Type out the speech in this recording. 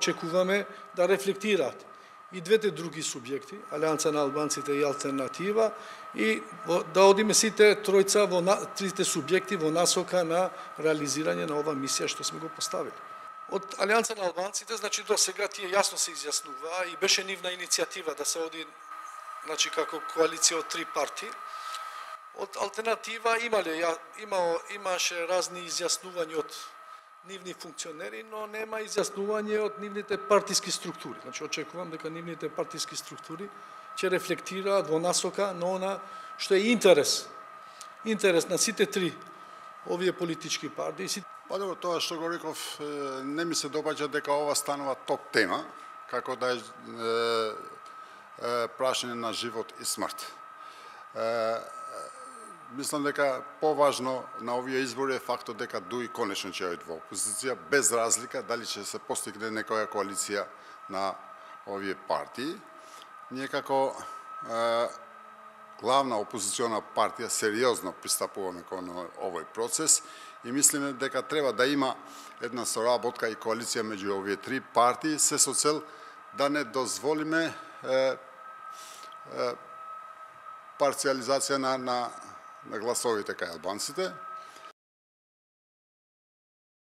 Очекуваме да рефлектираат и двете други субјекти, Алијанса на албанците и Алтернатива, и да одиме сите тројца трите субјекти во насока на реализирање на ова мисија што сме го поставили. Од Алијанса на албанците, значи до сега тие јасно се изјаснуваа и беше нивна иницијатива да се оди, значи како коалиција од 3 партии. Од Алтернатива имаше разни изјаснувања од нивни функционери, но нема изјаснување од нивните партиски структури. Значи, очекувам дека нивните партиски структури ќе рефлектираат во насока на она што е интерес на сите три овие политички партии. Па добро, тоа што го реков, не ми се допаѓа дека ова станува топ тема, како да е прашање на живот и смрт. Мислам дека поважно на овие избори е фактот дека ДУИ конечно ќе оди во опозиција, без разлика дали ќе се постигне некоја коалиција на овие партии. Ние како главна опозициона партија сериозно пристапуваме кон овој процес и мислиме дека треба да има една соработка и коалиција меѓу овие 3 партии, се со цел да не дозволиме парциализација на гласовите кај албанците.